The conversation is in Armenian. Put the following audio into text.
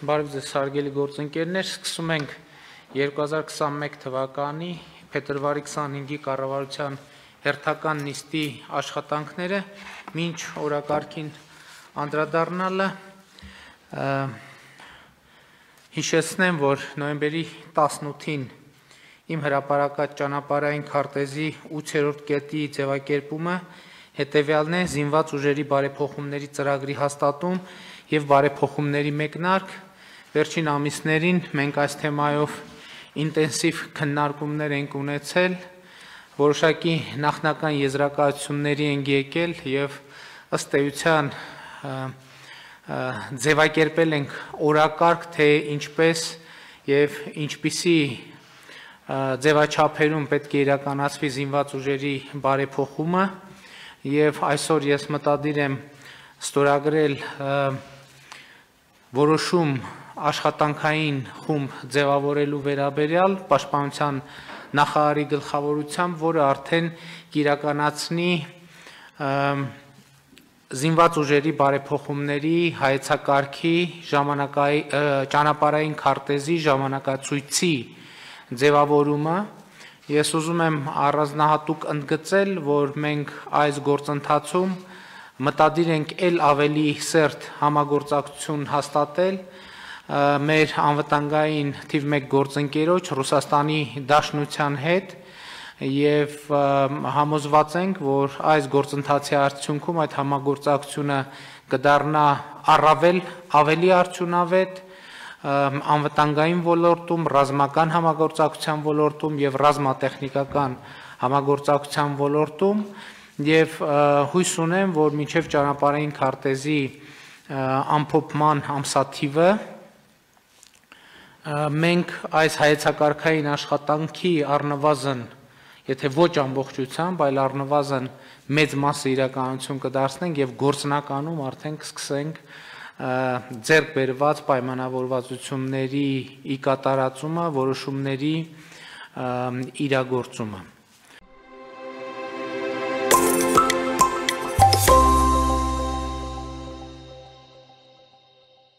Բարև ձեզ հարգելի գործընկերներ, սկսում ենք 2021 թվականի փետրվարի 25-ի կառավարության հերթական նիստի աշխատանքները, մինչ օրակարգին անդրադառնալը հիշեցնեմ, որ նոյեմբերի 18-ին իմ հրապարակած ճանապարհային քարտեզի 8-րդ կետի ձևակերպումը հետևյալն է՝ զինված ուժերի բարեփոխումների ծրագրի հաստատում եւ բարեփոխումների մեկնարկ։ Վերջին ամիսներին մենք այս թեմայով ինտենսիվ քննարկումներ ենք ունեցել, որոշակի նախնական եզրակացությունների ենք եկել եւ ըստ էության ձևակերպել ենք օրակարգ, թե ինչպես եւ ինչպիսի ձևաչափերում պետք է իրականացվի զինված ուժերի բարեփոխումը եւ այսօր ես մտադիր եմ ստորագրել որոշում աշխատանքային խումբ ձևավորելու վերաբերյալ պաշտպանության նախարարի գլխավորությամբ, որը արդեն կիրականացնի զինված ուժերի բարեփոխումների հայեցակարգի ճանապարհային քարտեզի ժամանակացույցի ձևավորումը։ Ես ուզում եմ առանձնահատուկ ընդգծել, որ մենք այս գործընթացում մտադիր ենք ել ավելի սերտ համագործակցություն հաստատել մեր անվտանգային թիվ 1 գործընկերոջ Ռուսաստանի Դաշնության հետ եւ համոզված ենք, որ այս գործընթացի արդյունքում այդ համագործակցությունը կդառնա առավել ավելի արդյունավետ անվտանգային ոլորտում, ռազմական համագործակցության ոլորտում եւ ռազմատեխնիկական համագործակցության ոլորտում եւ հույս ունեմ, որ մինչեւ ճանապարհային քարտեզի ամփոփման ամսաթիվը մենք այս հայեցակարգային աշխատանքի առնվազն, եթե ոչ ամբողջությամբ, այլ առնվազն մեծ մասը իրականություն կդարձնենք եւ գործնականում արդեն կսկսենք ձեռք բերված պայմանավորվածությունների ի կատարածումը, որոշումների իրագործումը։